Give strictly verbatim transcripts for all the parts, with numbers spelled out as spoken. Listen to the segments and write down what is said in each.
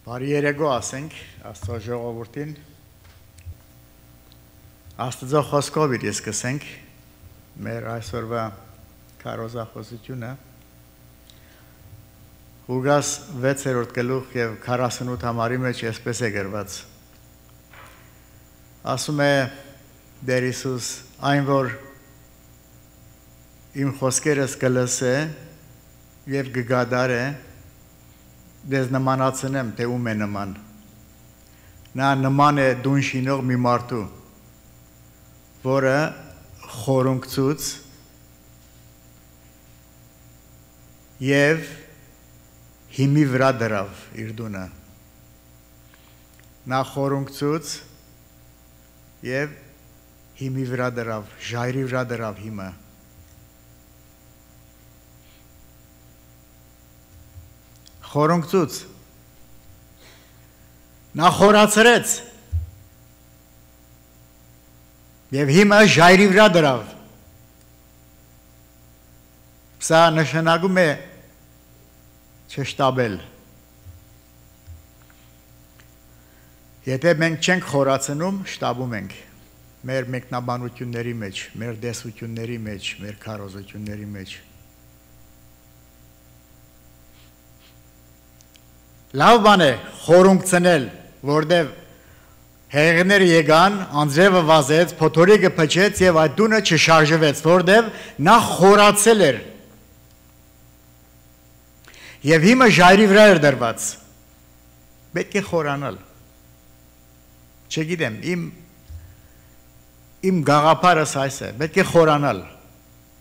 Բարի երեկո ասենք Աստծո ժողովրդին Աստծո խոսքով իր սկսենք մեր այսօրվա քարոզախոսությունը Ղուկաս վեցերորդ գլուխ եւ քառասունութ համարի մեջ այսպես է գրված Ասում է Տեր Հիսուս այն որ իմ խոսքերս կլսե եւ կգադարե Դες նմանացնեմ, թե ում է նման Նա նման է դուն շինող մի մարդու Որը խորունգցուց Եվ հիմի վրա դրավ իր դունը Նա խորունգցուց Եվ հիմի վրա դրավ, ժայռի վրա դրավ հիմը Խորունգցուց Նա խորացրեց Եվ հիմը ժայռի վրա դրավ Սա նշանակում է չշտաբել Եթե մենք չենք խորացնում, շտաբում ենք Մեր մեկնաբանությունների մեջ, մեր դեսությունների մեջ, մեր քարոզությունների մեջ Լավ բան է խորունգցնել, որտև հեղեղները եկան, անձրևը վազեց, փոթորիկը փչեց եւ այդ դունը չշարժվեց, որտև նա խորացել էր։ Եվ հիմա ժայռի վրա էր դրված։ Պետք է խորանալ։ Չգիտեմ, իմ իմ գաղափարս այս է, պետք է խորանալ։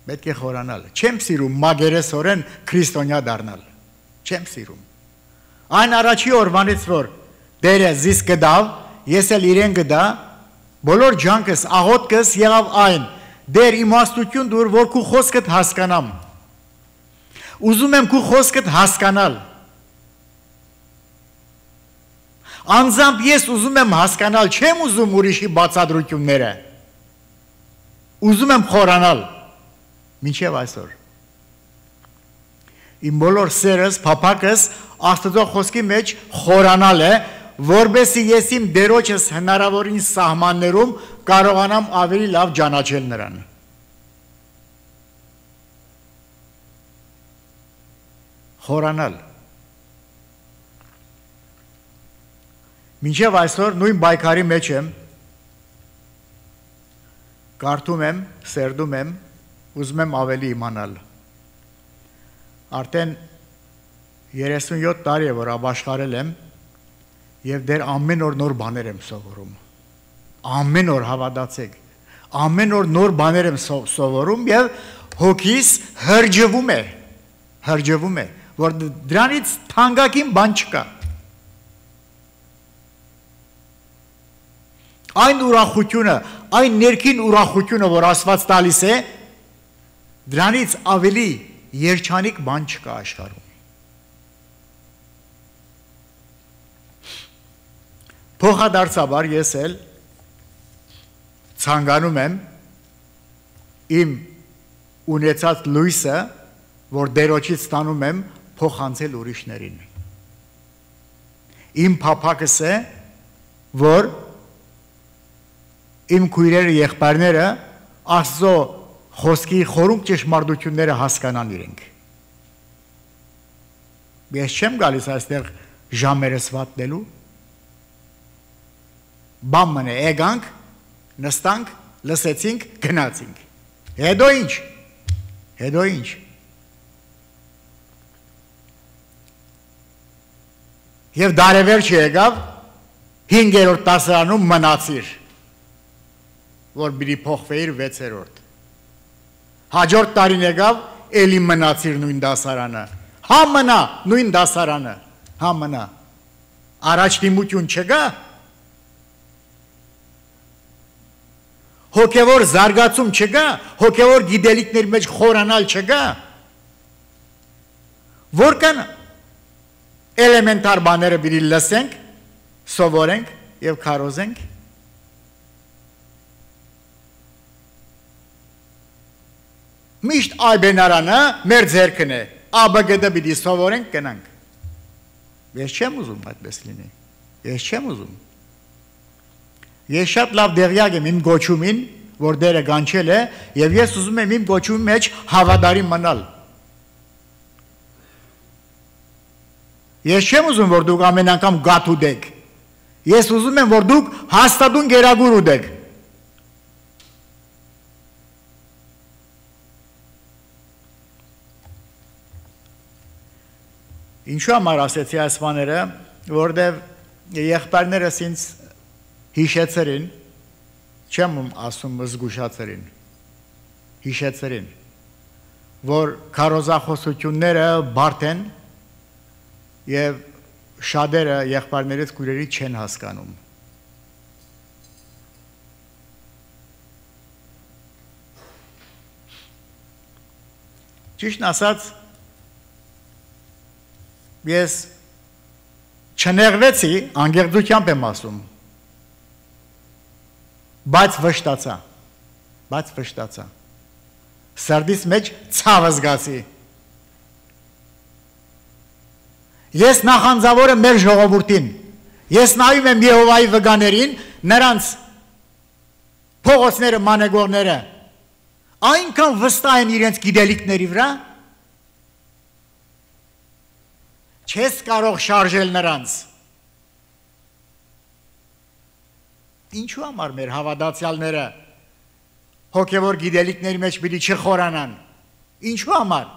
Պետք է խորանալ։ Չեմ սիրում մագերեսորեն քրիստոնյա դառնալ։ Չեմ սիրում։ Այն առաջի օրվանից որ Տերը զիս կդավ, ես էլ իրեն կդա, բոլոր ջանքս, աղոթքս եղավ այն, Տեր իմաստություն դուր, որ քու խոսքդ հասկանամ։ Ուզում եմ քու խոսքդ հասկանալ։ Անձամբ ես ուզում եմ հասկանալ, չեմ ուզում ուրիշի բացատրությունները։ Ուզում եմ խորանալ։ Մինչև այսօր։ Իմ բոլոր սերս, փափակս Աստծո խոսքի մեջ խորանալ է, որբեսի ես իմ դերոջս հնարավորին սահմաններում կարողանամ ավելի լավ ճանաչել նրան։ Խորանալ։ Մինչև այսօր նույն բայկարի մեջ եմ, կարդում եմ, սերդում եմ, ուզում եմ ավելի իմանալ։ Արդեն երեսունյոթ տարի է, որ ապաշխարել եմ և դեր ամեն օր նոր բաներ եմ սովորում, ամեն օր հավատացեք, ամեն օր նոր բաներ եմ սովորում և հոգիս հրջվում է, հրջվում է, որ դրանից թանկագին բան չկա։ Այն ուրախությունը, այն ներքին ուրախությունը, որ Աստված տալիս է, դրանից ավելի երջանիկ բան չկա աշխարհում։ Փոխադարձաբար ես էլ ցանկանում եմ իմ ունեցած լույսը, որ դերոջից ստանում եմ, փոխանցել ուրիշներին։ Իմ փափակս է, որ իմ քույրերը եղբայրները Աստծո խոսքի խորունկ ճշմարտությունները հասկանան իրենք։ Ես չեմ գալիս այստեղ ժամերս վատնելու, բան մնե, եկանք, նստանք, լսեցինք, գնացինք։ Հետո ինչ, հետո ինչ։ Եվ դարևերջ եկավ, հինգերորդ դասարանում մնացիր, որ բիրի փոխվեիր վեցերորդ։ Հաջորդ տարին եկավ, էլի մնացիր նույն դասարանը, հա մնա նույն դասարանը, հա մնա, առաջ դիմություն չկա, հոգևոր զարգացում չկա, հոգևոր գիտելիքների մեջ խորանալ չկա, որքան էլեմենտար բաները բիրի լսենք, սովորենք և քարոզենք, Միշտ այբենարանը մեր ձերքն է, աբգդը պիտի սովորենք գնանք։ Ես չեմ ուզում այդպես լինի։ Ես չեմ ուզում։ Ես շատ լավ դեղյակ եմ իմ գոչումին, որ դերը գանչել է, եւ ես ուզում եմ իմ գոչումի մեջ հավատարիմ մնալ։ Ես չեմ ուզում, որ դուք ամեն անգամ գաթ ուտեք։ Ես ուզում եմ, որ դուք հաստատուն գերագուր ուտեք։ Ինչու համար ասեցի այս բաները, որտեվ եղբայրներս ինձ հիշեցրին, չեմ ասում զգուշացրին, հիշեցրին, որ քարոզախոսությունները բարդ են եւ շատերը եղբայրներից քույրերի չեն հասկանում։ Ճիշտն ասած, ես չնեղվեցի, անգեղծությամբ եմ ասում, բայց վշտացա, բայց վշտացա, սրտիս մեջ ցավ զգացի։ Ես նախանձավոր եմ մեր ժողովրդին, ես նայում եմ Եհովայի վգաներին, նրանց փողոցները, մանեգորները, այնքան վստահ են իրենց գիտելիքների վրա, չես կարող շարժել նրանց։ Ինչու համար մեր հավատացյալները հոգևոր գիտելիքների մեջ պիտի չխորանան։ Ինչու համար։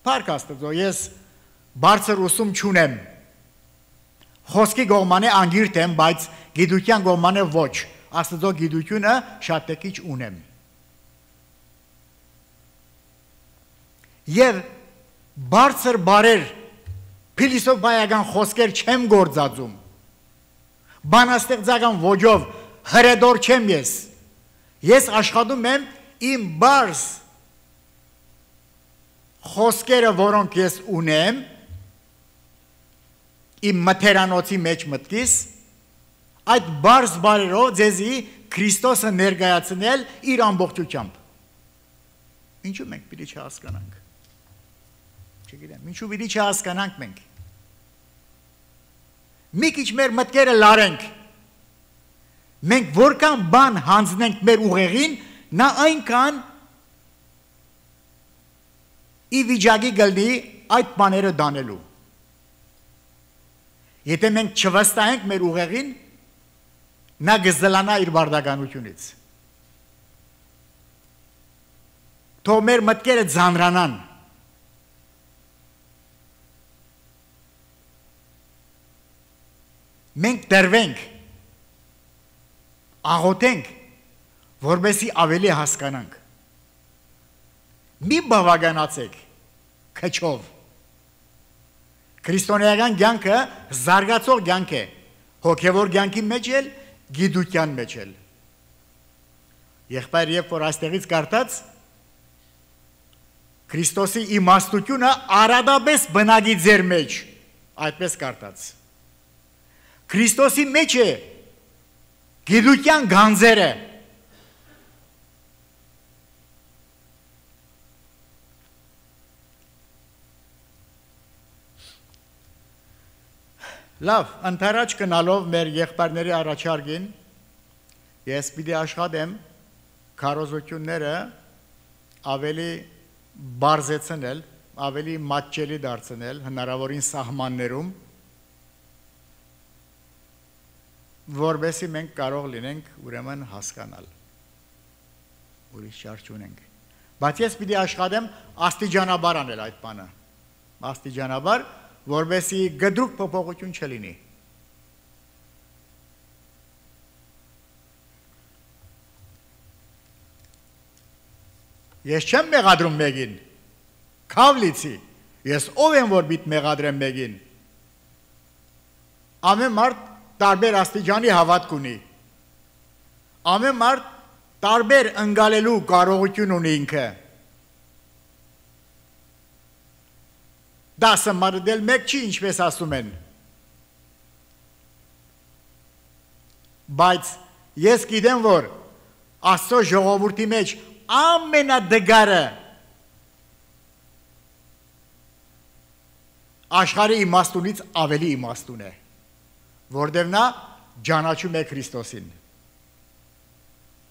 Փառք Աստծո, ես բարձր ուսում չունեմ։ Խոսքի գողմանե անգիրտ եմ, բայց գիտության գողմանե ոչ։ Աստծո գիտությունը շատ տեկիչ ունեմ։ Եվ բարձր բարեր փիլիսոփայական խոսքեր չեմ գործածում։ Բանաստեղծական ոճով հրեդոր չեմ ես։ Ես աշխատում եմ իմ բարձ խոսքերը, որոնք ես ունեմ, իմ մթերանոցի մեջ մտքիս, այդ բարձ բարերով ձեզի Քրիստոսը ներկայացնել իր ամբողջությամբ։ Ինչու մենք պիտի չհասկանանք։ Չգիտեմ, ինչու պիտի չհասկանանք մենք։ Մի քիչ մեր մտքերը լարենք։ Մենք որքան բան հանձնենք մեր ուղեղին, նա այնքան ի վիճակի գլնի այդ բաները դանելու։ Եթե մենք չվստահենք մեր ուղեղին, նա կզլանա իր բարդականությունից։ Թող մեր մտքերը ձանրանան։ Մենք դրվենք, աղոթենք, որպեսզի ավելի հասկանանք։ Մի բավականացեք քչով։ Քրիստոնեական կյանքը զարգացող կյանք է, հոգևոր կյանքի մեջ էլ, գիտության մեջ էլ։ Եղբայր, երբ որ այստեղից կարդաց, Քրիստոսի իմաստությունը արադապես բնակի ձեր մեջ, այդպես կարդաց։ Քրիստոսի մեջ է գիտության գանձերը։ Լավ, ընթരാճ կնալով մեր եղբայրների առաջարկին, ես պիտի աշխատեմ քարոզությունները ավելի բարձեցնել, ավելի մատչելի դարձնել հնարավորին սահմաններում, որովհետեւ մենք կարող լինենք ուրեմն հասկանալ։ Ուրիշ ճար չունենք։ Բայց ես պիտի աշխատեմ աստիճանաբար անել այդ բանը։ Աստիճանաբար, որովհետեւ գդրուկ փոփոխություն չլինի։ Ես չեմ մեղադրում մեկին, քավլիցի, ես ով եմ, որ պիտի մեղադրեմ մեկին։ Ամեն մարդ տարբեր աստիճանի հավատք ունի։ Ամեն մարդ տարբեր ընկալելու կարողություն ունի ինքը։ Դասը մարդել մեկ չի, ինչպես ասում են։ Բայց ես գիտեմ, որ Աստծո ժողովրդի մեջ ամենադգարը աշխարհի իմաստունից ավելի իմաստուն է, որտեղ նա ճանաչում է Քրիստոսին,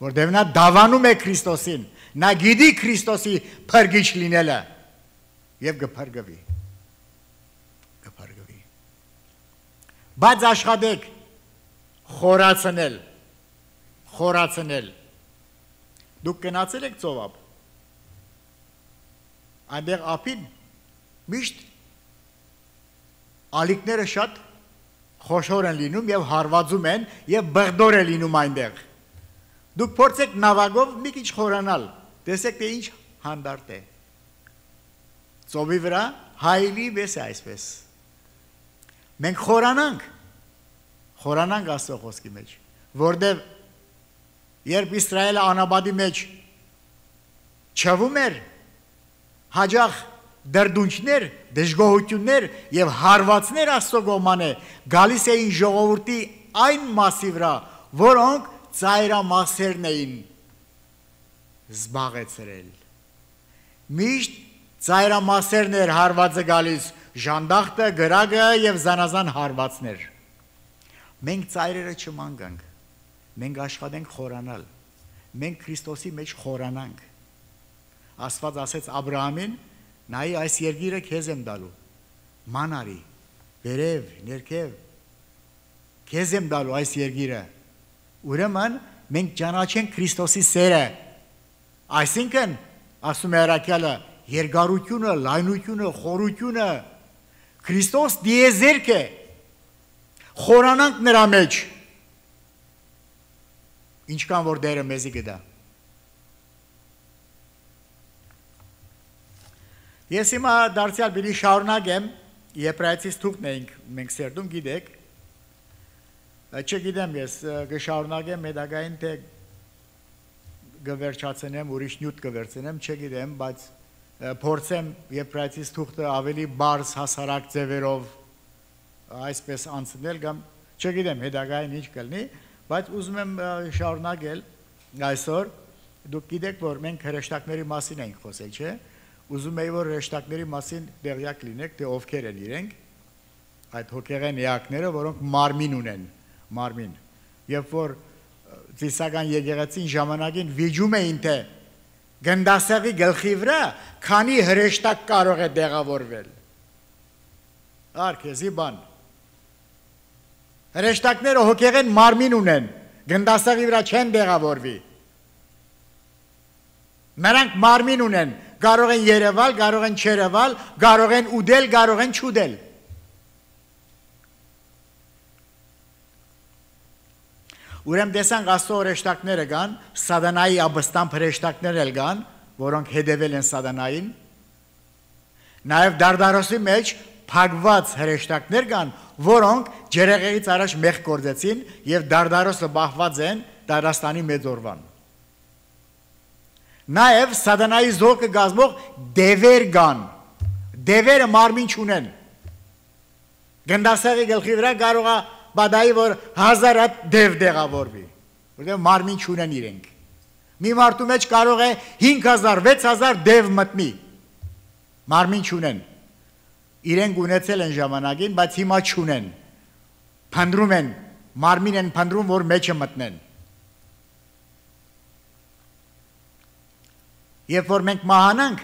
որտեղ նա դավանում է Քրիստոսին, նա գիտի Քրիստոսի փրկիչ լինելը եւ կփրկվի, կփրկվի։ Բայց աշխատեք խորացնել, խորացնել։ Դուք գնացել եք ծովափ, այնտեղ ափին միշտ ալիքները շատ խոշոր են լինում եւ հարվածում են եւ բղդոր է լինում այնտեղ։ Դուք փորձեք նավակով մի քիչ խորանալ, տեսեք թե ինչ հանդարտ է։ Ծովի վրա հայլի վես է այսպես։ Մենք խորանանք, խորանանք Աստծո խոսքի մեջ, որտեղ երբ Իսրայելը անաբադի մեջ չվում էր, հաջող դրդունչներ, դժգոհություններ եւ հարվածներ Աստծո կողմանը գալիս էին ժողովրդի այն մասի վրա, որոնք ծայրամասերն էին զբաղեցրել։ Միշտ ծայրամասերն էր հարվածը գալիս, ժանդախտը, գրագը եւ զանազան հարվածներ։ Մենք ծայրերը չմանգանք, մենք աշխատենք խորանալ, մենք Քրիստոսի մեջ խորանանք։ Աստված ասեց Աբրահամին, նայ այս երկիրը քեզ եմ տալու, ման արի, վերև, ներքև, քեզ եմ տալու այս երկիրը։ Ուրեմն մենք ճանաչենք Քրիստոսի սերը, այսինքն ասում է առաքյալը, երկարությունը, լայնությունը, խորությունը, Քրիստոս դիեզերք է, խորանանք նրա մեջ, ինչքան որ դերը մեզի գտա։ Ես հիմա դարձյալ բիլի շարունակեմ, Եբրայեցիս թուղթն էինք մենք սերտում, գիտեք, չգիտեմ ես կշարունակեմ հետագային թե կվերջացնեմ, ուրիշ նյութ կվերցնեմ, չգիտեմ, բայց փորձեմ Եբրայեցիս թուղթը ավելի բարձ հասարակ ձևերով այսպես անցնել կամ չգիտեմ հետագային ինչ կլինի, բայց ուզում եմ շարունակել այսօր, դուք գիտեք, որ մենք հրեշտակների մասին ենք խոսել, չէ՞։ Ուզում եի, որ հրեշտակների մասին տեղյակ լինեք, թե ովքեր են իրենք, այդ հոգեղեն էակները, որոնք մարմին ունեն, մարմին։ Երբ որ ծիսական եկեղեցին ժամանակին վիճում էին, թե գնդասեղի գլխի վրա քանի հրեշտակ կարող է տեղավորվել։ Արկեզի բան։ Հրեշտակները հոգեղեն մարմին ունեն, գնդասեղի վրա չեն տեղավորվի։ Նրանք մարմին ունեն, կարող են երևալ, կարող են չերևալ, կարող են ուդել, կարող են չուդել։ Ուրեմն տեսանք Աստծո հրեշտակները կան, Սատանայի աբստամբ հրեշտակներ էլ կան, որոնք հետևել են Սատանային։ Նաև Դարդարոսի մեջ փակված հրեշտակներ կան, որոնք ջերեղեղից առաջ մեղք գործեցին եւ Դարդարոսը բախված են Դարաստանի մեծ օրվան։ Նաև Սատանայի զորքը գազմող դևեր կան, դևերը մարմին չունեն։ Գնդասեղի գլխի վրա կարող է բադայի, որ հազար հատ դև տեղավորվի, որտեղ մարմին չունեն իրենք։ Մի մարդու մեջ կարող է հինգ հազար, վեց հազար դև մտնի, մարմին չունեն։ Իրենք ունեցել են ժամանակին, բայց հիմա չունեն։ Փնտրում են, մարմին են փնտրում, որ մեջը մտնեն։ Երբ որ մենք մահանանք,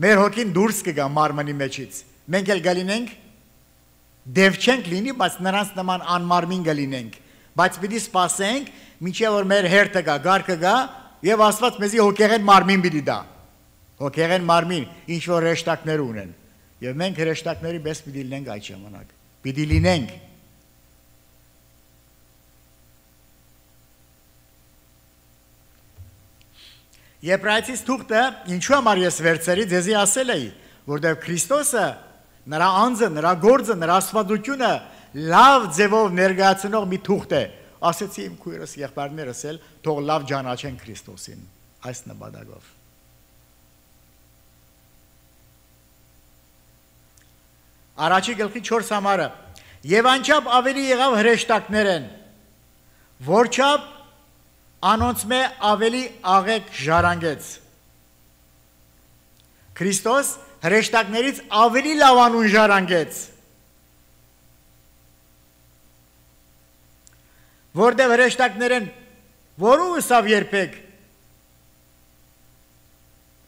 մեր հոգին դուրս կգա մարմնի մեջից, մենք էլ գլինենք, դև չենք լինի, բայց նրանց նման անմարմին գլինենք, բայց պիտի սպասենք, մինչև որ մեր հերթը գա, գարկը գա, եւ Աստված մեզի հոգեղեն մարմին պիտի տա, հոգեղեն մարմին, ինչ որ հրեշտակներ ունեն, եւ մենք հրեշտակների պես պիտի լինենք այդ ժամանակ, պիտի լինենք։ Եբրայեցիս թուղթը ինչու համար ես վերցրի, ձեզի ասել էի, որտեղ Քրիստոսը, նրա անձը, նրա գործը, նրա աստվածությունը լավ ձևով ներկայացնող մի թուղթ է։ Ասեցի իմ քույրս, եղբայրներս էլ, թող լավ ճանաչեն Քրիստոսին այս նպատակով։ Առաջի գլխի չորս համարը։ Եվ անչափ ավելի եղավ հրեշտակներ են, որչափ անոնց մե ավելի աղեկ ժառանգեց։ Քրիստոս հրեշտակներից ավելի լավ անուն ժառանգեց, որտեղ հրեշտակներեն որու ըսավ երբեք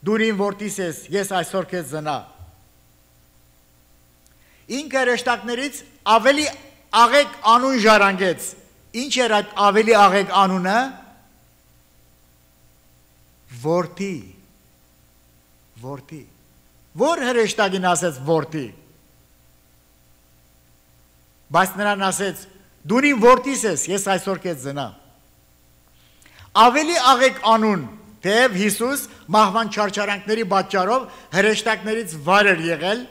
դու իմ որդիս ես, ես այսօր քեզ զնա։ Ինքը հրեշտակներից ավելի աղեկ անուն ժառանգեց։ Ինչ էր այդ ավելի աղեկ անունը? Որդի, որդի, որ հրեշտակին ասեց որդի, բայց նրան ասեց դու իմ որդիս ես, ես այսօր քեզ զնա։ Ավելի աղեկ անուն, թեև Հիսուս մահվան չարչարանքների պատճառով հրեշտակներից վար էր եղել,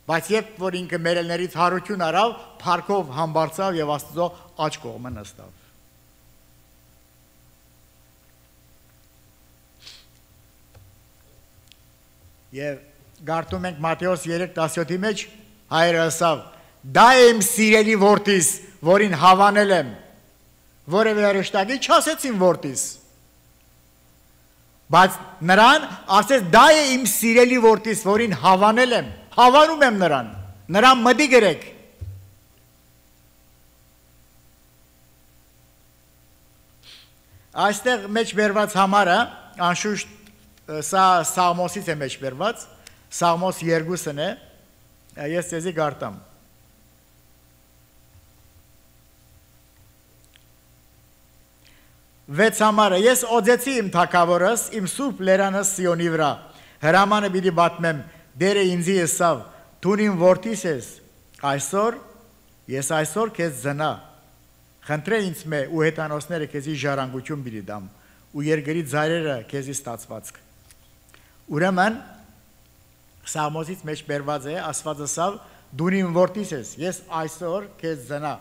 բայց երբ որ ինքը մերելներից հարություն արավ, փառքով համբարձավ եւ Աստծո աջ կողմը նստավ։ Եվ գարտում ենք Մատթեոս երեք տասնյոթի մեջ, հայրը ասավ. դա է իմ սիրելի որդիս, որին հավանել եմ, որևէ հրեշտակի չասեցին որդիս, բայց նրան ասեց դա է իմ սիրելի որդիս, որին հավանել եմ, հավանում եմ նրան, նրան մտի գրեք։ Այստեղ մեջ բերված համարը, անշուշտ սա Սաղմոսից է մեջ բերված, Սաղմոս երկուսն է, ես ձեզի գարտամ։ Վեց համարը, ես օձեցի իմ թագավորս, իմ սուրբ լերանս Սիոնի վրա, հրամանը պիտի պատմեմ, դերը ինձի եսավ, դու իմ որդիս ես, այսօր, ես այսօր քեզ զնա, խնդրե ինձ մե ու հետանոսները քեզի ժառանգություն պիտի դամ, ու երկրի ձայրերը քեզի ստացվածք։ Ուրեմն, Սաղմոսից մեջ բերված է, ասված ասավ, դու իմ որդիս ես, ես այսօր քեզ զնա։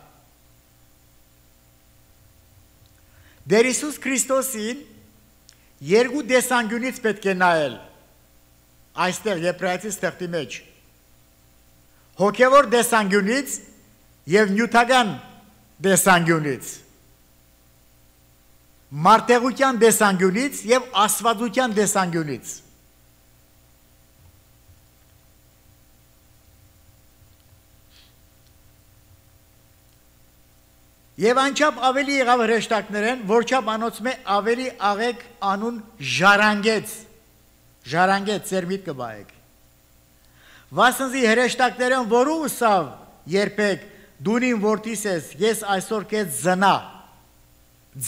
Դեր Հիսուս Քրիստոսին երկու դեսանգյունից պետք է նայել, այստեղ Եբրայեցիս թղթի մեջ, հոգևոր դեսանգյունից և նյութական դեսանգյունից, մարդեղության դեսանգյունից և աստվածության դեսանգյունից։ Եվ անչափ ավելի եղավ հրեշտակներեն, որչափ անոցում է ավելի աղեկ անուն ժառանգեց, ժառանգեց, ձեր միտքը բայեք։ Վասնզի հրեշտակներեն որու ուսավ երբեք դու իմ որդիս ես, ես այսօր քեզ զնա,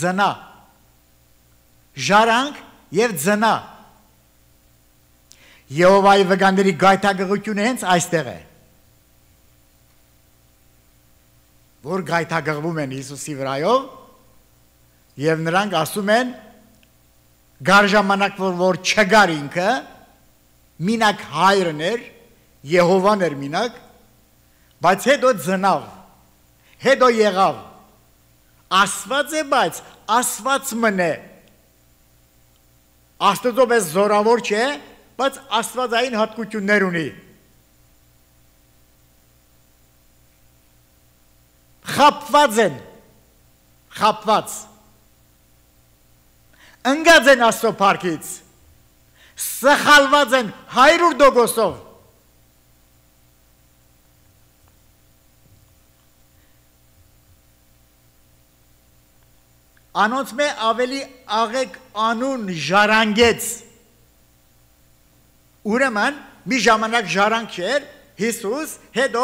զնա, ժառանգ և զնա։ Եհովայի վկանների գայթակղությունը հենց այստեղ է, որ գայթակղվում են Հիսուսի վրայով և նրանք ասում են գար ժամանակ, որ չգար ինքը, մինակ հայրն էր, Եհովան էր մինակ, բայց հետո ծնավ, հետո եղավ, ասված է, բայց ասված մն է, Աստծո պես զորավոր չէ, բայց աստվածային հատկություններ ունի, խապված են, խապված, ընգած են Աստծո փառքից, սխալված են հարյուր տոկոսով, անոնց մե ավելի աղեկ անուն ժառանգեց, ուրեմն մի ժամանակ ժառանգ չէր, Հիսուս հետո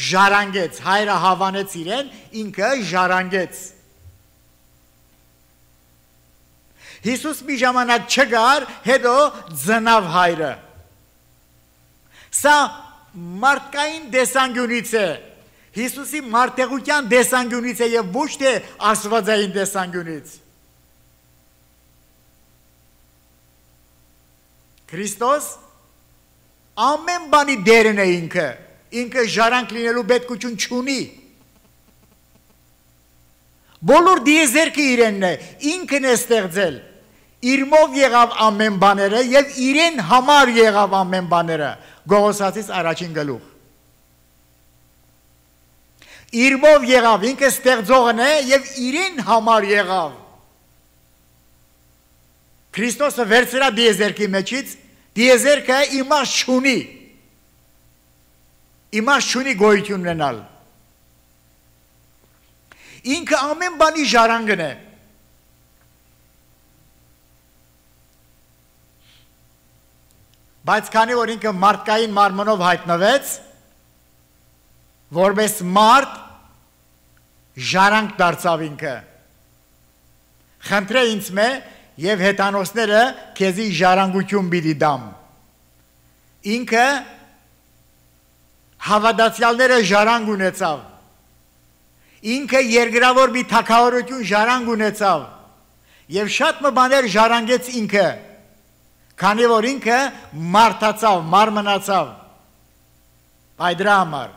ժառանգեց, հայրը հավանեց իրեն, ինքը ժառանգեց։ Հիսուս մի ժամանակ չգար, հետո ծնավ հայրը։ Սա մարդկային դեսանգյունից է, Հիսուսի մարդեղության դեսանգյունից է և ոչ թե աստվածային դեսանգյունից։ Քրիստոս ամեն բանի դերն է ինքը, ինքը ժառանգ լինելու պետքություն չունի։ Բոլոր դիեզերքը իրենն է, ինքն է ստեղծել, իրմով եղավ ամեն բաները և իրեն համար եղավ ամեն բաները, Գողոսացից առաջին գլուխ։ Իրմով եղավ, ինքը ստեղծողն է և իրեն համար եղավ։ Քրիստոսը վերցրա դիեզերքի մեջից, Տիեզերքը իմաստ չունի։ Իմաստ չունի գոյություն ունենալ։ Ինքը ամեն բանի ժառանգն է։ Բայց քանի որ ինքը մարդկային մարմնով հայտնվեց, որպես մարդ ժառանգ դարձավ ինքը։ Խնդրե ինձ մե եւ հետանոսները քեզի ժառանգություն պիտի դամ։ Ինքը հավատացյալները ժառանգ ունեցավ։ Ինքը երկրավոր մի թագավորություն ժառանգ ունեցավ եւ շատ մը բաներ ժառանգեց ինքը, քանի որ ինքը մարդացավ, մարմնացավ։ Այդ դրա համար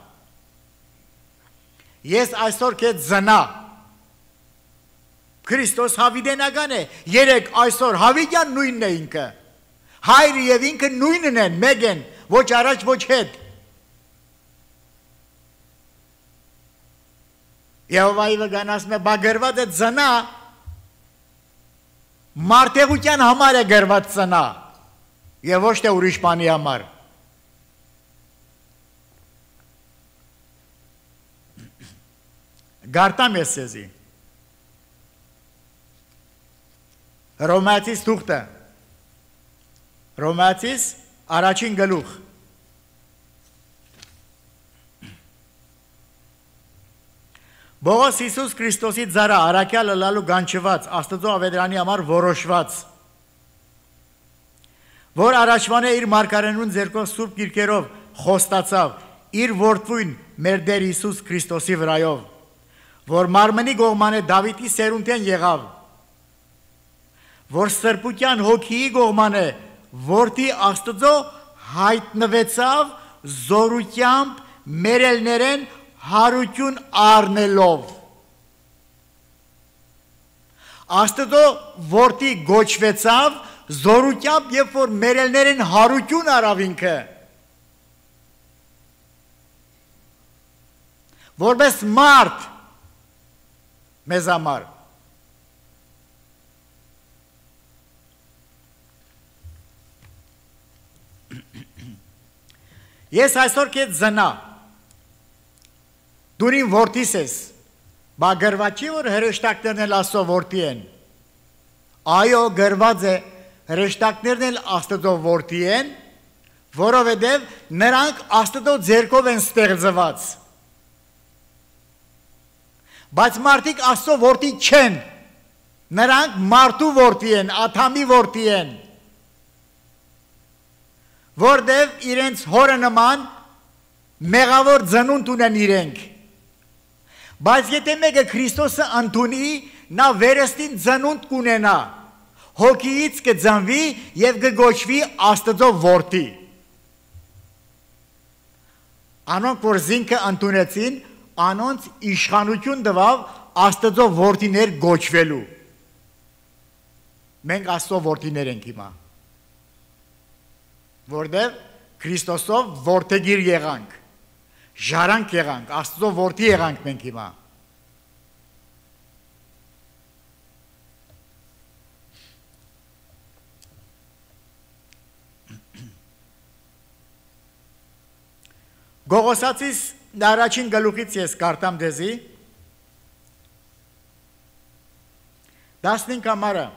ես այսօր քեզ զնա Քրիստոս հավիտենական է, երեք այսօր հավիտյան նույնն է ինքը, հայրը եւ ինքը նույնն են, մեկ են, ոչ առաջ, ոչ հետ։ Եհովայի վգան ասում է, բա գրված է ծնա, մարդեղության համար է գրված ծնա, եւ ոչ թե ուրիշ բանի համար։ Գարտամ ես սեզի։ Հռոմեացիս թուղթը, Հռոմեացիս առաջին գլուխ։ Բողոս Հիսուս Քրիստոսի ձարա առաքյալը լալու գանչված, Աստծո ավետարանի համար որոշված, որ առաջվան է իր մարգարենուն ձեռքով սուրբ գիրքերով խոստացավ իր որդվույն մեր Տեր Հիսուս Քրիստոսի վրայով, որ մարմնի գողման է Դավիթի սերունդեն եղավ, որ սրբության հոգիի գողման է, որդի Աստծո հայտնվեցավ զորությամբ մերելներեն հարություն առնելով։ Աստծո որդի գոչվեցավ զորությամբ, երբ որ մերելներեն հարություն առավ ինքը, որպես մարդ մեզ համար։ Ես այսօր քեզ զնա, դու իմ որդիս ես, բա գրված չի, որ հրեշտակներն էլ Աստծո որդի են։ Այո, գրված է, հրեշտակներն էլ Աստծո որդի են, որովհետև նրանք Աստծո ձեռքով են ստեղծված։ Բայց մարդիկ Աստծո որդի չեն, նրանք մարդու որդի են, Ադամի որդի են, որտև իրենց հորը նման մեղավոր ծնունդ ունեն իրենք։ Բայց եթե մեկը Քրիստոսը ընդունի, նա վերստին ծնունդ կունենա, հոգիից կծնվի եւ կգոչվի Աստծո որդի։ Անոնք, որ զինքը ընդունեցին, անոնց իշխանություն տվավ Աստծո որդիներ գոչվելու։ Մենք Աստծո որդիներ ենք հիմա, որտև Քրիստոսով որդեգիր եղանք, ժառանգ եղանք, Աստծո որդի եղանք մենք հիմա։ Գողոսացիս առաջին գլուխից ես կարտամ դեզի, դասնին կամարը,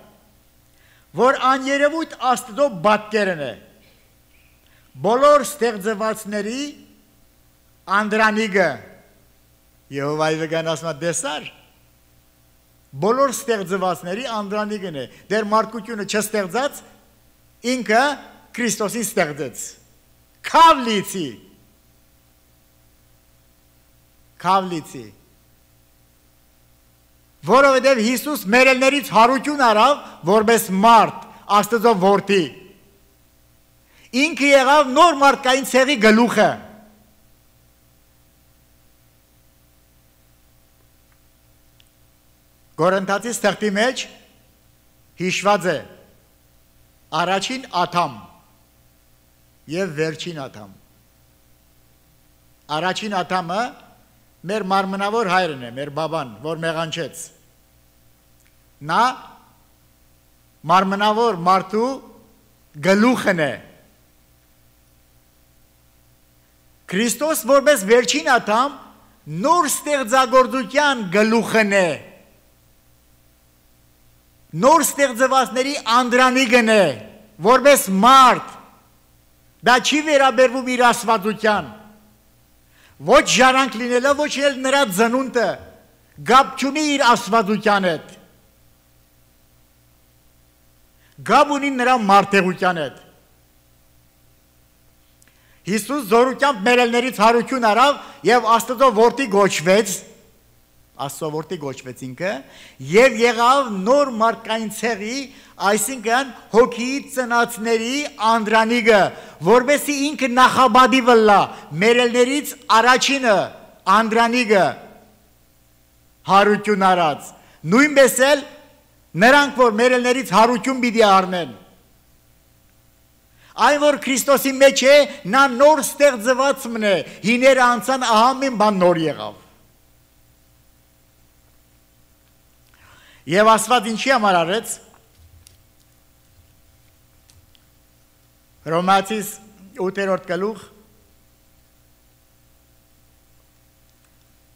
որ աներևույթ Աստծո բատկերն է, բոլոր ստեղծվածների անդրանիգը, Եհովայի վգան ասում է դեսար, բոլոր ստեղծվածների անդրանիգն է, դեր մարդկությունը չստեղծած, ինքը Քրիստոսին ստեղծեց, քավլիցի, քավլիցի, որովհետև Հիսուս մերելներից հարություն արավ, որպես մարդ, Աստծո որդի, ինքը եղավ նոր մարդկային ցեղի գլուխը։ Կորինթացիս թղթի մեջ հիշված է առաջին Ադամ եւ վերջին Ադամ։ Առաջին Ադամը մեր մարմնավոր հայրն է, մեր բաբան, որ մեղանչեց։ Նա մարմնավոր մարդու գլուխն է, Քրիստոս որպես վերջին ատամ նոր ստեղծագործության գլուխն է, նոր ստեղծվածների անդրանիկն է, որպես մարդ, դա չի վերաբերվում իր ասվածության, ոչ ժարանք լինելը, ոչ էլ նրա ծնունդը, գապ չունի իր ասվածության հետ, գապ ունի նրա մարդեղության հետ։ Հիսուս զորությամբ մերելներից հարություն արավ և Աստծո որդի գոչվեց, Աստծո որդի գոչվեց ինքը, և եղավ նոր մարդկային ցեղի, այսինքն հոգիի ծնածների անդրանիկը, որպեսզի ինքը նախաբադի վլա, մերելներից առաջինը անդրանիկը հարություն արած, նույնպես էլ նրանք, որ մերելներից հարություն պիտի առնեն, այն որ Քրիստոսի մեջ է, նա նոր ստեղծված մն է, հիները անցան, ահա մին բան նոր եղավ։ Եվ Աստված ինչի համար արեց, Հռոմեացիս ութերորդ գլուխ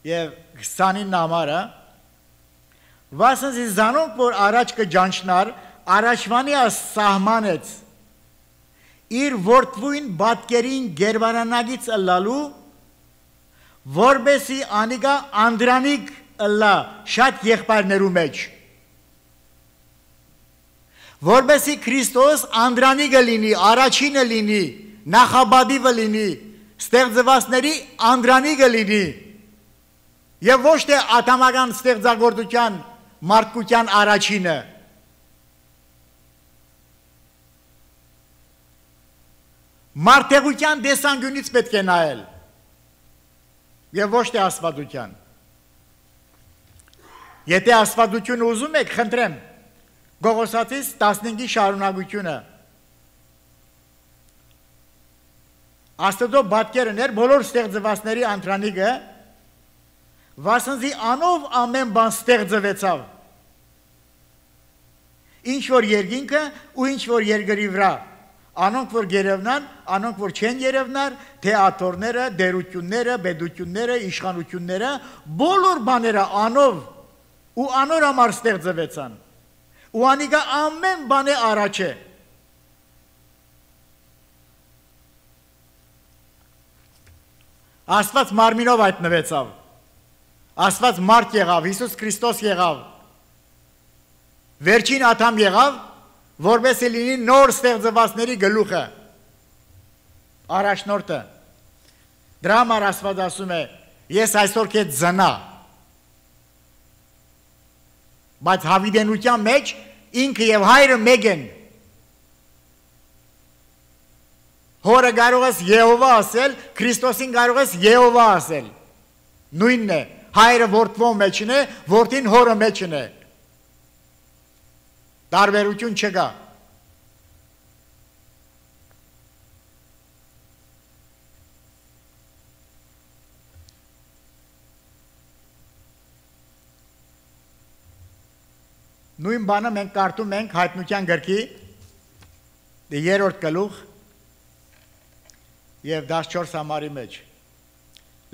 և քսանինը համարը, վասնզի զանոնք, որ առաջ կջանչնար, առաջվանի սահմանեց, իր որդվույն բատկերին գերվարանագից ըլլալու, որբեսի անիկա անդրանիկ ըլլա շատ եղբայրներու մեջ, որբեսի Քրիստոս անդրանիկը լինի, առաջինը լինի, նախաբադիվը լինի, ստեղծվածների անդրանիկը լինի, և ոչ թե ատամական ստեղծագործության մարդկության առաջինը, մարդեղության դեսանգյունից պետք է նայել և ոչ թե աստվածության։ Եթե աստվածությունը ուզում եք, խնդրեմ, Գողոսացիս տասնհինգի շարունակությունը, Աստծո բատկերն էր բոլոր ստեղծվածների անդրանիկը, վասնզի անով ամեն բան ստեղծվեցավ, ինչ որ երկինքը ու ինչ որ երկրի վրա, անոնք որ գերևնան, անոնք որ չեն երևնար, թեատորները, դերությունները, բեդությունները, իշխանությունները, բոլոր բաները անով ու անոր համար ստեղծվեցան, ու անիկա ամեն բան է առաջ է։ Աստված մարմինով հայտնվեցավ, Աստված մարդ եղավ, Հիսուս Քրիստոս եղավ, վերջին ատամ եղավ, որպեսզի լինի նոր ստեղծվածների գլուխը, առաջնորդը։ Դրա համար Աստված ասում է, ես այսօր քեզ ծնա, բայց հավիտենության մեջ ինքը և հայրը մեկ են։ Հորը կարող ես Եհովա ասել, Քրիստոսին կարող ես Եհովա ասել, նույնն է, հայրը որդվո մեջն է, որդին հորը մեջն է, տարբերություն չկա։ Նույն բանը մենք կարդում ենք Հայտնության գրքի երրորդ գլուխ և դասչորս համարի մեջ։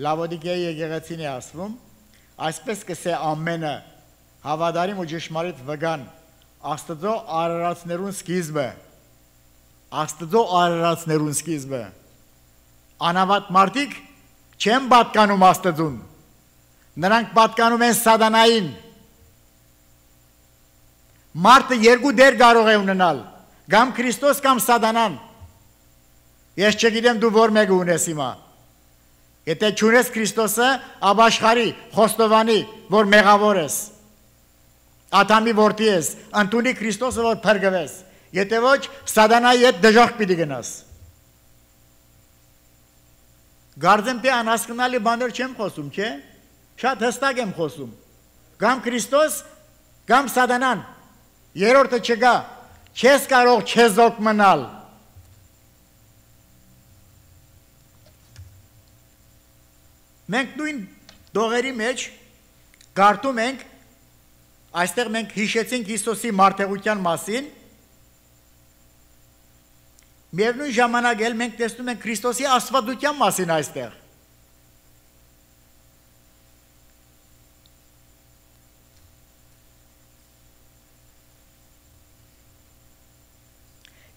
Լավոդիկեի եկեղեցին է ասվում, այսպես կսե ամենը հավատարիմ ու ճշմարիտ վգան Աստծո արարածներուն սկիզբը, Աստծո արարածներուն սկիզբը, անավատ մարդիկ չեն պատկանում Աստծուն, նրանք պատկանում են սատանային, մարդը երկու դեր կարող է ունենալ, կամ Քրիստոս կամ սատանան, ես չգիտեմ դու որ մեկը ունես հիմա, եթե չունես Քրիստոսը, ապաշխարի, խոստովանի, որ մեղավոր ես, Ադամի որդի ես, ընդունի Քրիստոսը, որ փրկվես, եթե ոչ, սատանայի հետ դժոխք պիտի գնաս։ Կարծեմ թե անհասկանալի բաներ չեմ խոսում, չէ՞, շատ հստակ եմ խոսում, կամ Քրիստոս, կամ սատանան, երրորդը չկա, չես կարող չեզոք մնալ։ Մենք նույն դողերի մեջ կարդում ենք, այստեղ մենք հիշեցինք Հիսուսի մարդեղության մասին Միևնույն ժամանակ էլ մենք տեսնում ենք Քրիստոսի աստվածության մասին այստեղ։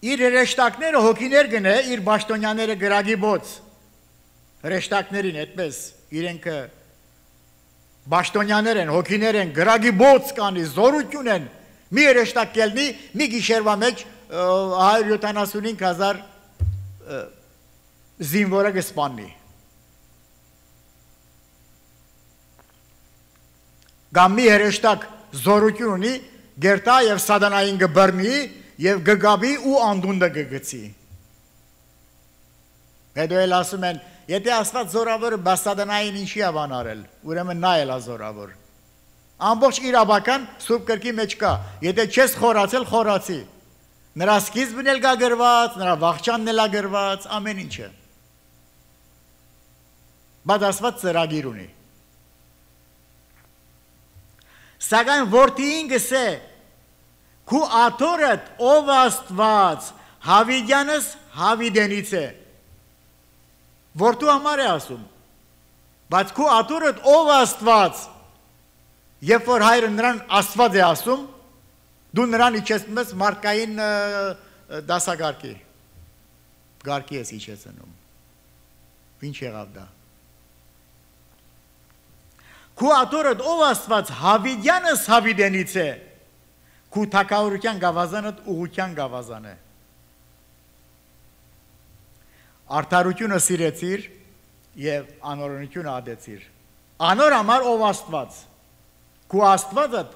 Իր հրեշտակները հոգիներ գնե, իր բաշտոնյաները գրագի բոց, հրեշտակներին այդպես, իրենքը բաշտոնյաներ են, հոգիներ են, գրագի բոց կանի, զորություն են, մի հրեշտակ կելնի, մի գիշերվա մեջ հարյուր յոթանասունհինգ հազար զինվորը կսպանի։ Կամ մի հրեշտակ զորություն ունի, գերտա և սատանային կբռնի և գգաբի ու անդունդը գգցի։ Հետո էլ ասում են, եթե Աստված զորավորը բաց սատանային ինչի է բան արել, ուրեմն նա էլ է զորավոր։ Ամբողջ իրավական սուրբ գրքի մեջ կա, եթե չես խորացել, խորացի։ Նրա սկիզբն էլ կա գրված, նրա վախճանն էլ է գրված, ամեն ինչը։ Բայց Աստված ծրագիր ունի։ Սակայն որդիին գսե, քու աթորդ ով Աստված, Հավիդյանս Հավիդենից է։ Որդու համար է ասում, բայց քու աթորդ ով Աստված, երբ որ հայրը նրան Աստված է ասում, դու նրան իջեցնում ես մարդկային դասագարկի, գարկի ես իջեցնում, ինչ եղավ դա։ Քու աթորդ ով Աստված, Հավիդյանս Հավիդենից է, քու թագավորության գավազանդ ուղղության գավազան է։ Արդարությունը սիրեցիր և անօրենությունը ադեցիր։ Անոր համար ով Աստված, քու Աստվածդ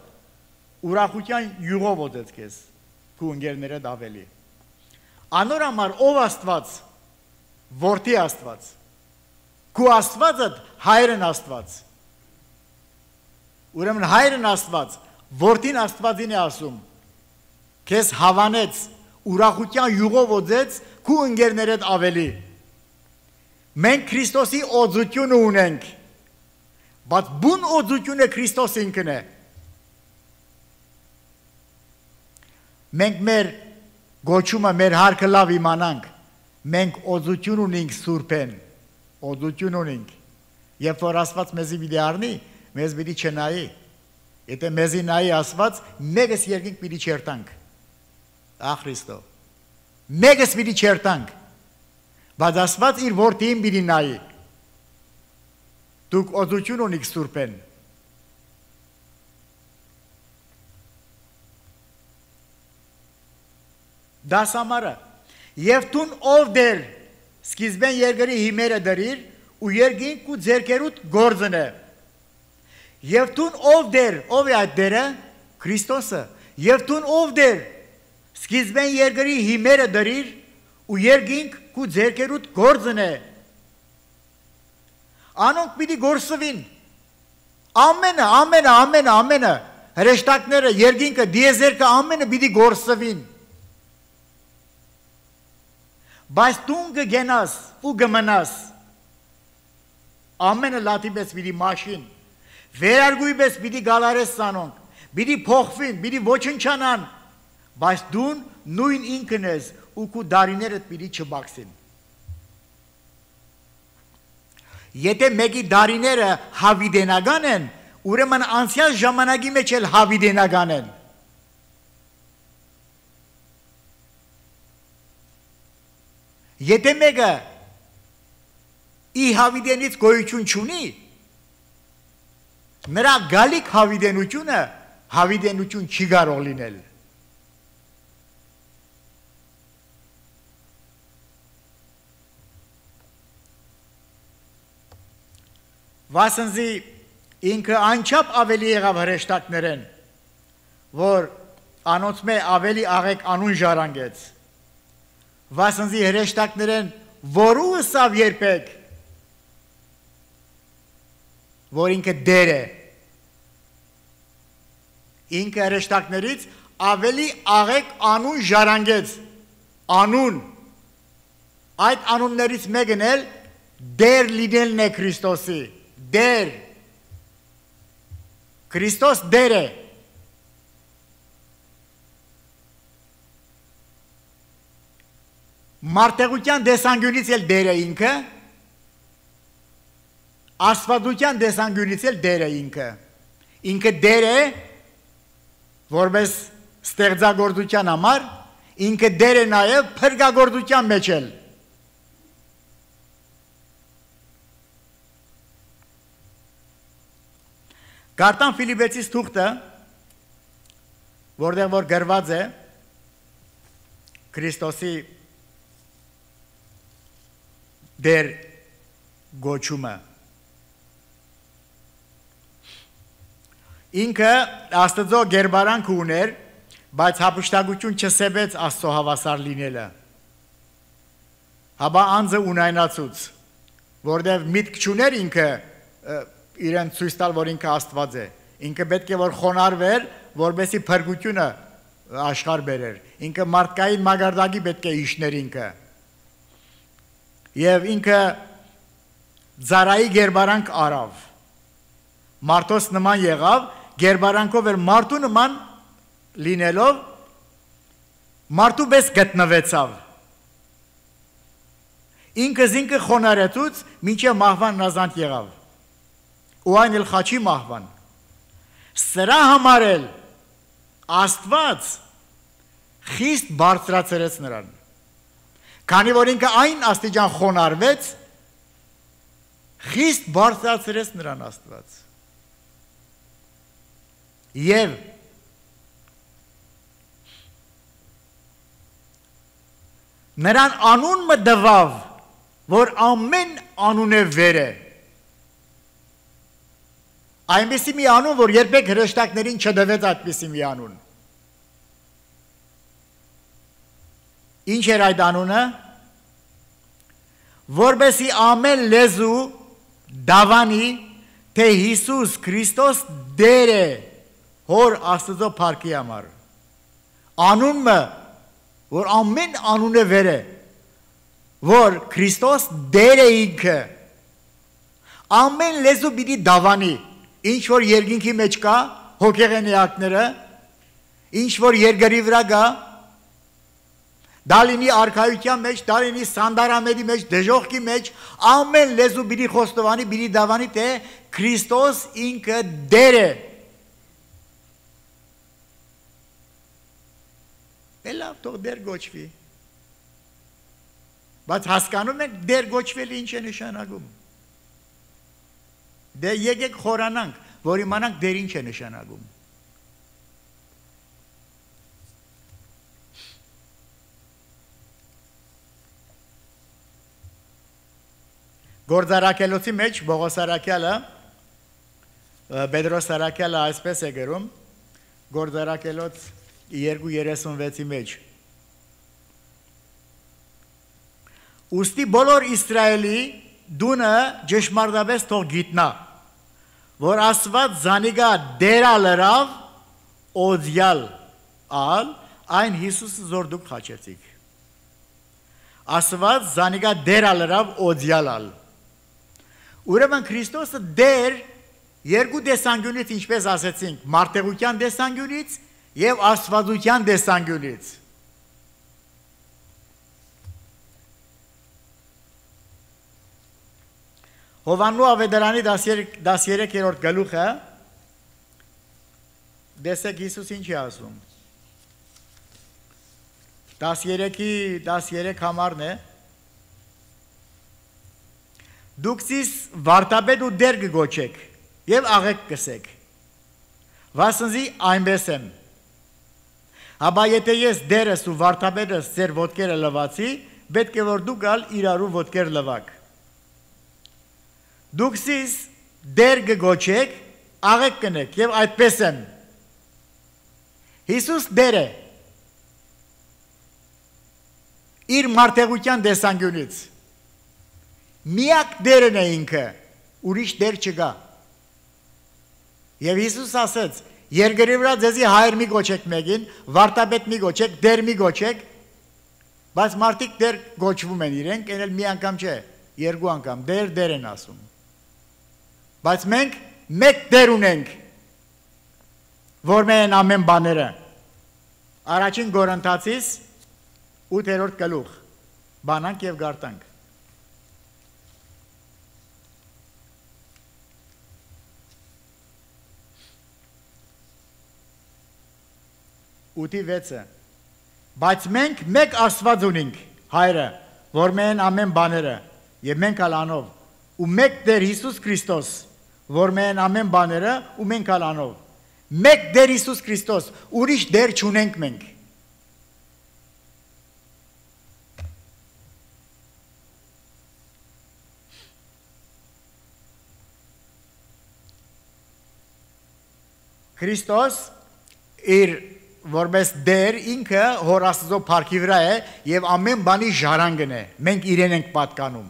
ուրախության յուղով օդեց քեզ, քու ընկերներդ ավելի։ Անոր համար ով Աստված, որդի Աստված, քու Աստվածդ հայրն Աստված։ Ուրեմն հայրն Աստված, որդին Աստվածին է ասում, քեզ հավանեց, ուրախության յուղով օձեց, քու ընկերներդ ավելի։ Մենք Քրիստոսի օձությունը ունենք, բայց բուն օձությունը Քրիստոս ինքն է։ Մենք մեր գոչումը, մեր հարկը լավ իմանանք, մենք օձություն ունենք Սուրբեն, օձություն ունենք, երբ որ Աստված մեզի պիտի առնի, մեզ պիտի չնայի, եթե մեզի նայի Աստված, մեկս երկինք պիտի չերտանք, ա Քրիստո, մեկս պիտի չերտանք, բայց Աստված իր որդիին պիտի նայի, դուք օձություն ունիք Սուրբեն։ Դասամարը, և տուն ով դեր, սկիզբեն երկրի հիմերը դրիր, ու երկինք ու ձերքերուտ գործն է։ Եվ տուն ով դեր, ով է այդ դերը, Քրիստոսը, և տուն ով դեր, սկիզբեն երկրի հիմերը դրիր, ու երկինք ու ձերքերուտ գործն է։ Անոնք պիտի գործվին, ամենը, ամենը, ամենը, ամենը, հրեշտակները, երկինքը, դիեզերքը, ամենը պիտի գործվին։ Բայց տուն կգենաս ու կմնաս, ամենը լատի պես պիտի մաշին, վերարգույ պես պիտի գալարես սանոնք, պիտի փոխվին, պիտի ոչնչանան, բայց դուն նույն ինքն ես ու քու դարիներդ պիտի չբաքսին։ Եթե մեկի դարիները հավիդենական են, ուրեմն անցյալ ժամանակի մեջ էլ հավիդենական են։ Եթե մեկը ի հավիդենից գոյություն չունի, նրա գալիք հավիդենությունը հավիդենություն չի կարող լինել։ Վասնզի ինքը անչափ ավելի եղավ հրեշտակներեն, որ անոնց մե ավելի աղեք անուն ժառանգեց։ Վասնզի հրեշտակներեն որու ըսավ երբեք, որ ինքը դեր է։ Ինքը հրեշտակներից ավելի աղեք անուն ժառանգեց, անուն։ Այդ անուններից մեկն էլ դեր լինելն է Քրիստոսի, դեր։ Քրիստոս դեր է։ Մարդեղության դեսանգյունից էլ դեր է ինքը, աստվածության դեսանգյունից էլ դեր է ինքը, ինքը դեր է, որպես ստեղծագործության համար, ինքը դեր է նաև փրկագործության մեջ էլ։ Գարտան Ֆիլիպեցիս թուղթը, որտեղ որ գրված է Քրիստոսի դեր գոչումը։ Ինքը Աստծո գերբարանք ուներ, բայց հափշտակություն չսեբեց Աստծո հավասար լինելը։ Հաբա անձը ունայնացուց, որտեղ միտք չուներ ինքը իրեն ցույց տալ, որ ինքը Աստված է։ Ինքը պետք է որ խոնարհվեր, որովհետեւ փրկությունը աշխարհ բերեր։ Ինքը մարդկային մագարտակի պետք է իշներ ինքը։ Եվ ինքը Զարայի գերբարանք արավ, մարդոս նման եղավ, գերբարանքով էր մարդու նման լինելով, մարդու պես գտնվեցավ, ինքը զինքը խոնարեցուց, մինչև մահվան նազանդ եղավ, ու այն էլ խաչի մահվան, սրա համար էլ Աստված խիստ բարձրացրեց նրան, քանի որ ինքը այն աստիճան խոնարհվեց, խիստ բարձրացրեց նրան Աստված։ Եվ նրան անուն մտավ, որ ամեն անուն է վեր է։ Այնպիսի մի անուն, որ երբեք հրեշտակներին չդվեց այդպիսի մի անուն։ Ինչ էր այդ անունը, որբեսի ամեն լեզու դավանի, թե Հիսուս Քրիստոս դեր է հոր Աստծո փառքի համար։ Անունը, որ ամեն անուն է վեր է, որ Քրիստոս դեր է ինքը, ամեն լեզու պիտի դավանի, ինչ որ երկինքի մեջ կա, հոգեղենեակները, ինչ որ երկրի վրա կա, դա լինի արքայության մեջ, դա լինի սանդարամերի մեջ, դժողքի մեջ, ամեն լեզու պիտի խոստովանի, պիտի դավանի, թե Քրիստոս ինքը դեր է։ Դե լավ, թող դեր գոչվի։ Բայց հասկանում եք դեր գոչվելը ինչ է նշանակում։ Դե եկեք խորանանք, որ իմանանք դեր ինչ է նշանակում։ Գործարակելոցի մեջ Բողոս Արաքյալը, Պետրոս Արաքյալը այսպես է գրում, Գործարակելոց երկու երեսունվեցի մեջ։ Ուստի բոլոր Իսրայելի դունը ճշմարտապես թող գիտնա, որ Աստված զանիգա դերա լրավ օձյալ ալ, այն Հիսուսը զոր դուք խաչեցիք։ Աստված զանիգա դերա լրավ օձյալ ալ։ Ուրեմն Քրիստոսը դեր երկու տեսանկյունից, ինչպես ասեցինք, մարդեղության տեսանկյունից եւ աստվածության տեսանկյունից։ Հովաննու ավետարանի դասերեքերորդ գլուխը, դեսեք Հիսուս ինչ է ասում։ Դասերեքի դասերեք համարն է, դուք զիս վարտապետ ու դեր կգոչեք և աղեք կսեք, վասնզի այնպես եմ, հաբա եթե ես դերս ու վարտապետս ձեր ոտքերը լվացի, պետք է որ դուք ալ իրարու ոտքեր լվակ, դուք զիս դեր կգոչեք, աղեք կնեք և այդպես եմ, Հիսուս դեր է, իր մարդեղության տեսանկյունից, միակ դերն է ինքը, ուրիշ դեր չկա։ Եվ Հիսուս ասեց, երկրի վրա ձեզի հայր մի գոչեք մեկին, վարտապետ մի գոչեք, դեր մի գոչեք, բայց մարդիկ դեր գոչվում են իրենք, են էլ մի անգամ չէ, երկու անգամ, դեր դեր են ասում։ Բայց մենք մեկ դեր ունենք, որ մեն ամեն բաները։ Առաջին Կորինթացիս ութերորդ գլուխ, Բանանք եւ գարտանք։ Ութի վեցը։ Բայց մենք մեկ Աստված ունենք, Հայրը, որ մեն ամեն բաները, եւ մենք ալանով, ու մեկ Տեր Հիսուս Քրիստոս, որ մեն ամեն բաները, ու մենք ալանով։ Մեկ Տեր Հիսուս Քրիստոս, ուրիշ դեր չունենք մենք։ Քրիստոս իր որպես դեր ինքը հոր Աստծո փառքի վրա է եւ ամեն բանի ժառանգն է։ Մենք իրեն ենք պատկանում։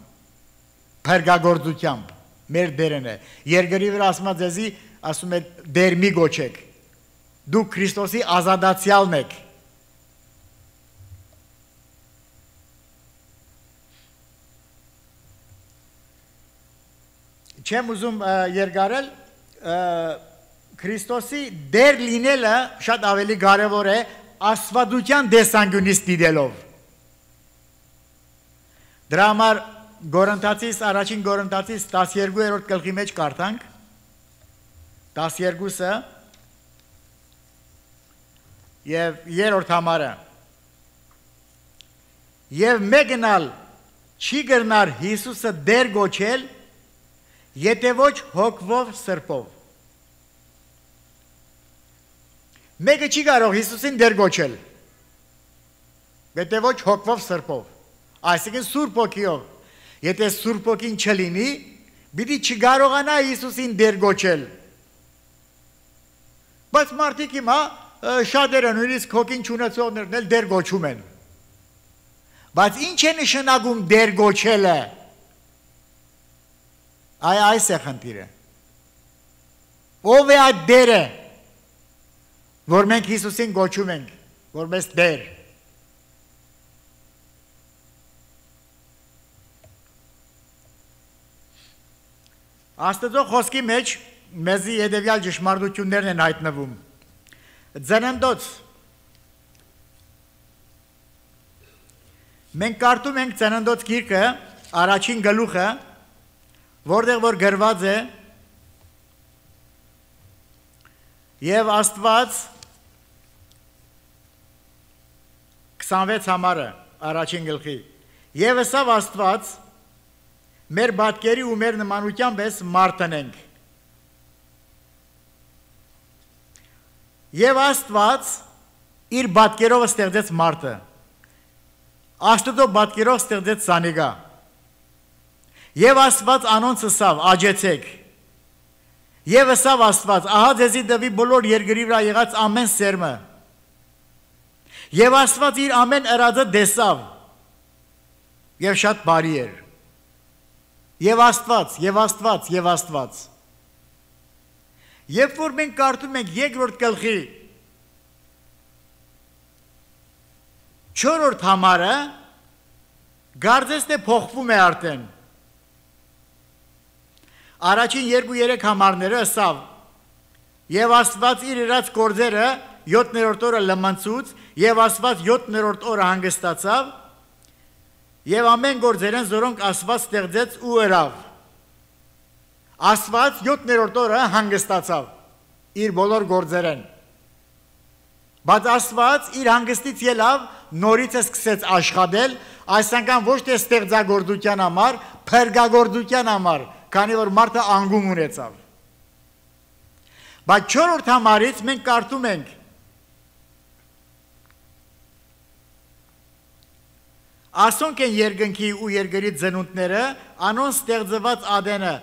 Փրկagorցությամբ մեր դերն է։ Երգերի վրա ասում է ձեզի, ասում է դեր մի գոչեք։ Դուք Քրիստոսի ազատացյալն եք։ Չեմ ուզում երգարել Քրիստոսի դեր լինելը շատ ավելի կարևոր է աստվածության տեսանկյունից դիտելով։ Դրա համար Գորընթացիս առաջին Գորընթացիս տասներկուերորդ գլխի մեջ կարդանք տասներկուսը եւ երրորդ համարը եւ մեկնալ չի գրնար Հիսուսը դեր գոչել եթե ոչ հոգվով սրբով Մեկը չի կարող Հիսուսին դեր գոչել, եթե ոչ հոգվով սրբով, այսինքն Սուրբ Հոգիով, եթե Սուրբ Հոգին չլինի, պիտի չկարողանա Հիսուսին դեր գոչել։ Բայց մարդիկ հիմա շատերը նույնիսկ հոգին չունեցողներն էլ դեր գոչում են։ Բայց ինչ է նշանակում դեր գոչելը։ Այ այս է խնդիրը։ Ով է այդ դերը, որ մենք Հիսուսին գոչում ենք, որպես դեր։ Աստծո խոսքի մեջ մեզի հետևյալ ճշմարտություններն են հայտնվում։ Ծննդոց։ Մենք կարդում ենք Ծննդոց գիրքը, առաջին գլուխը, որտեղ որ գրված է Եվ Աստված քսանվեց համարը առաջին գլխի Եվ ըսավ Աստված մեր բատկերի ու մեր նմանությամբ ես մարտնենք Եվ Աստված իր բատկերով ստեղծեց մարդը Աստծո բատկերով ստեղծեց Սանիգա Եվ Աստված անոնց ըսավ աջեցեք Եվ ըսավ Աստված, ահա ձեզի դվի բոլոր երկրի վրա եղած ամեն սերմը։ Եվ Աստված իր ամեն ըրածը տեսավ։ Եվ շատ բարի էր։ Եվ Աստված, եւ Աստված, եւ Աստված։ Երբ որ մենք կարդում ենք երկրորդ գլխի չորրորդ համարը, կարծես թե փոխվում է արդեն։ Առաջին երկու-երեք համարները ըսավ Եվ Աստված իր իրաց գործերը յոթներորդ օրը լմնցուց Եվ Աստված յոթներորդ օրը հանգստացավ Եվ ամեն գործերեն զորոնք Աստված ստեղծեց ու ըրավ Աստված յոթներորդ օրը հանգստացավ Իր բոլոր գործերեն Բայց Աստված իր հանգստից ելավ նորից է սկսեց աշխատել Այս անգամ ոչ թե ստեղծագործության համար, փրկagorցության համար Քանի որ մարդը անգում ունեցավ։ Բայց չորրորդ համարից մենք կարդում ենք Ասոնք են երկնքի ու երկրի ծնունդները, անոնց ստեղծված ադենը,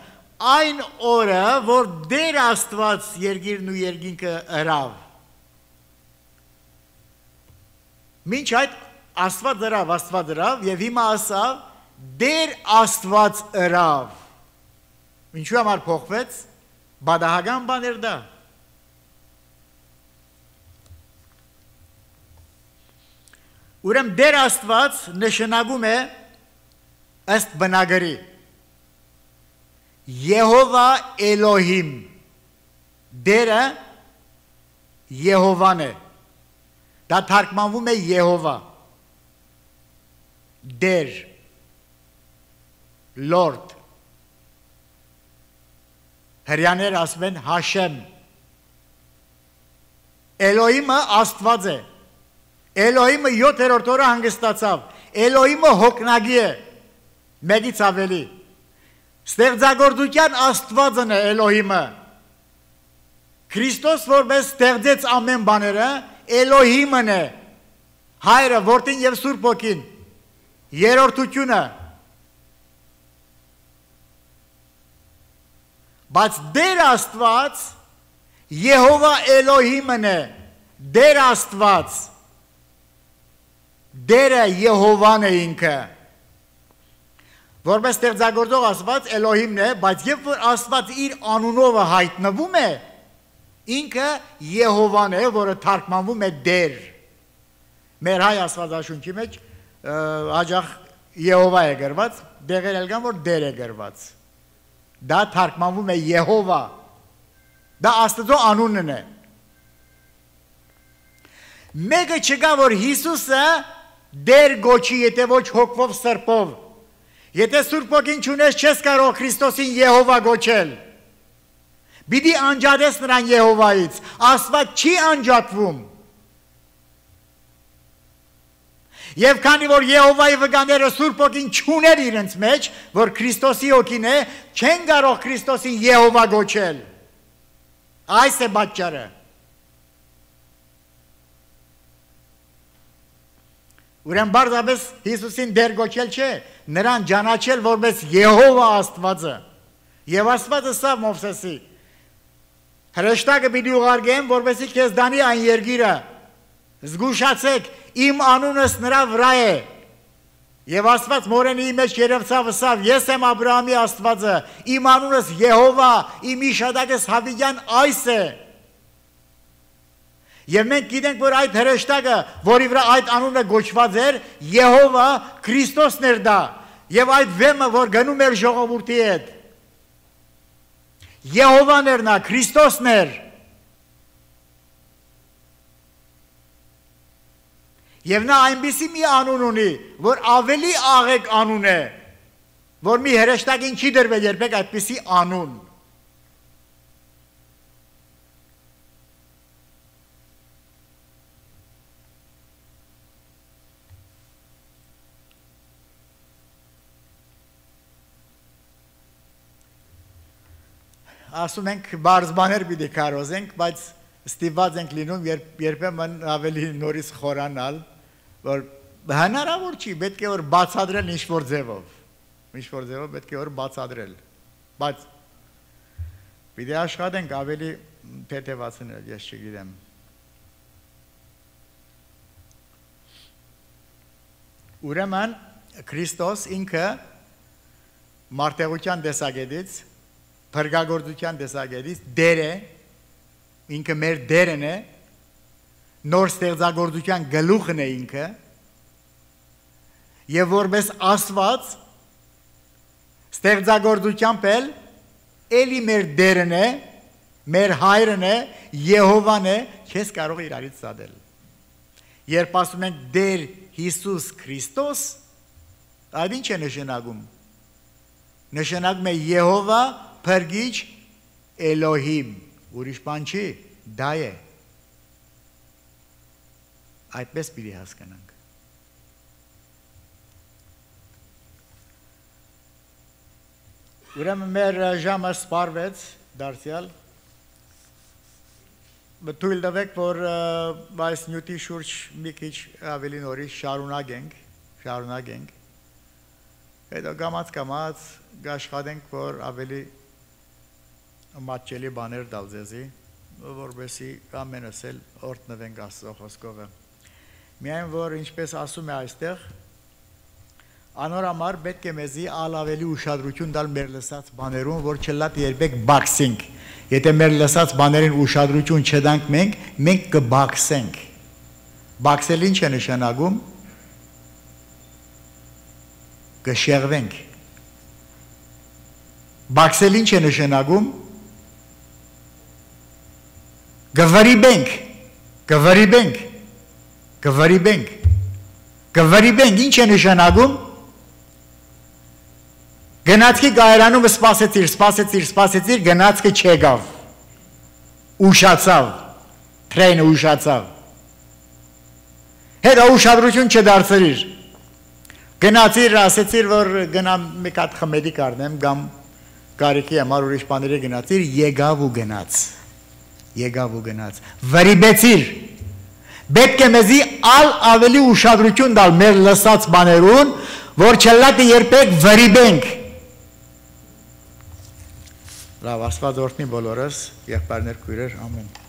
այն օրը, որ դեր Աստված երկիրն ու երկինքը ըրավ։ Մինչ այդ Աստված ըրավ, Աստված ըրավ եւ հիմա ասավ դեր Աստված ըրավ։ Ինչու համար փոխվեց, բադահական բաներ դա։ Ուրեմն դեր Աստված նշանակում է ըստ բնագրի Եհովա Էլոհիմ դերը Եհովան է Դա թարգմանվում է Եհովա Դեր, Lord, հրյաներ ասում են Հաշեմ, Էլոհիմը Աստված է, Էլոհիմը յոթերորդ օրը հանգստացավ, Էլոհիմը հոգնագի է, մեկից ավելի, ստեղծագործության Աստվածն է Էլոհիմը, Քրիստոս որպես ստեղծեց ամեն բաները, Էլոհիմն է, Հայրը, Որդին և Սուրբ Հոգին, երրորդությունը, բայց դեր Աստված Եհովա Էլոհիմն է, դեր Աստված, դերը Եհովան է ինքը, որպես ստեղծագործող Աստված Էլոհիմն է, բայց երբ որ Աստված իր անունով հայտնվում է, ինքը Եհովան է, որը թարգմանվում է դեր, մեր հայ աստվածաշունչի մեջ հաճախ Եհովա է գրված, դեղեր էլ կան, որ դեր է գրված, դա թարգմանվում է Եհովա, դա Աստծո անունն է, մեկը չկա, որ Հիսուսը դեր գոչի, եթե ոչ հոգվով սրբով, եթե Սուրբ Հոգին չունես, չես կարող Քրիստոսին Եհովա գոչել, պիտի անջատես նրան Եհովայից, Աստված չի անջատվում, և քանի որ Եհովայի վկաները Սուրբ Հոգին չուներ իրենց մեջ, որ Քրիստոսի հոգին է, չեն կարող Քրիստոսին Եհովա գոչել, այս է պատճառը, ուրեմն բարձրապես Հիսուսին դեր գոչել չէ, նրան ճանաչել որպես Եհովա Աստվածը, և Աստվածը սա Մովսեսի, հրեշտակը պիտի ուղարկեմ, որպեսզի քեզ դանի այն երկիրը, զգուշացեք, իմ անունս նրա վրա է, և Աստված մորենի մեջ երևցավ ասավ, ես եմ Աբրահամի Աստվածը, իմ անունս Եհովա, իմ իշադակս Հավիգյան այս է, և մենք գիտենք, որ այդ հրեշտակը, որի վրա այդ անունը գոչված էր, Եհովա Քրիստոսն էր դա, և այդ վեմը, որ գնում էր ժողովուրդի հետ, Եհովան էր նա, Քրիստոսն էր, և նա այնպիսի մի անուն ունի, որ ավելի աղեկ անուն է, որ մի հրեշտակին չի դրվել երբեք այդպիսի անուն, ասում ենք բարձ բաներ պիտի կարոզենք, բայց ստիպված ենք լինում երբեմն ավելի նորից խորանալ, որ հնարավոր չի, պետք է որ բացադրել ինչ-որ ձևով, ինչ-որ ձևով պետք է որ բացադրել, բայց պիտի աշխատենք ավելի թեթևացնել, ես չգիտեմ։ Ուրեմն Քրիստոս ինքը մարդեղության տեսակետից փրկագործության տեսակետից դեր է, ինքը մեր դերն է, նոր ստեղծագործության գլուխն է ինքը, և որպես Աստված ստեղծագործությամբ էլ էլի մեր դերն է, մեր հայրն է, Եհովան է, չես կարող իրարից սադել։ Երբ ասում ենք դեր Հիսուս Քրիստոս, այդ ինչ է նշանակում։ Նշանակում է Եհովա Փրկիչ Էլոհիմ, ուրիշ բան չի, դա է, այդպես պիտի հասկանանք։ Ուրեմն մեր ժամը սպառվեց դարձյալ, թույլ տվեք, որ այս նյութի շուրջ մի քիչ ավելի նորից շարունակենք, շարունակենք, հետո կամաց-կամաց կաշխատենք, որ ավելի մատչելի բաներ տալ ձեզի, որպեսզի ամենս էլ օրհնվենք Աստծո խոսքով։ Միայն որ ինչպես ասում է այստեղ, անորամար պետք է մեզի ավելի ուշադրություն տալ մեր լսած բաներուն, որ չլատ երբեք բաքսենք։ Եթե մեր լսած բաներին ուշադրություն չտանք մենք, մենք կբաքսենք։ Բաքսել ինչ է նշանակում։ Կշեղվենք։ Բաքսել ինչ է նշանակում։ Գվրիբենք, գվրիբենք, գվրիբենք, Կվրիբենք, ինչ է նշանակում։ Գնացքի կայարանում սպասեցիր, սպասեցիր, սպասեցիր, գնացքը չեկավ։ Ուշացավ, թրեյնը ուշացավ։ Հետո ուշադրություն չդարձրիր։ Գնացիր, ասեցիր, որ գնամ մեկ հատ խմելի կառնեմ, կամ կարիքի համար ուրիշ բաների գնացիր, եկավ ու գնաց։ Եկավ ու գնաց։ Վրիբեցիր։ Պետք է մեզի ալ ավելի ուշադրություն տալ մեր լսած բաներուն, որ չլատի երբեք վրիբենք։ Լավ, Աստված օրհնի բոլորս, եղբայրներ, քույրեր, ամեն։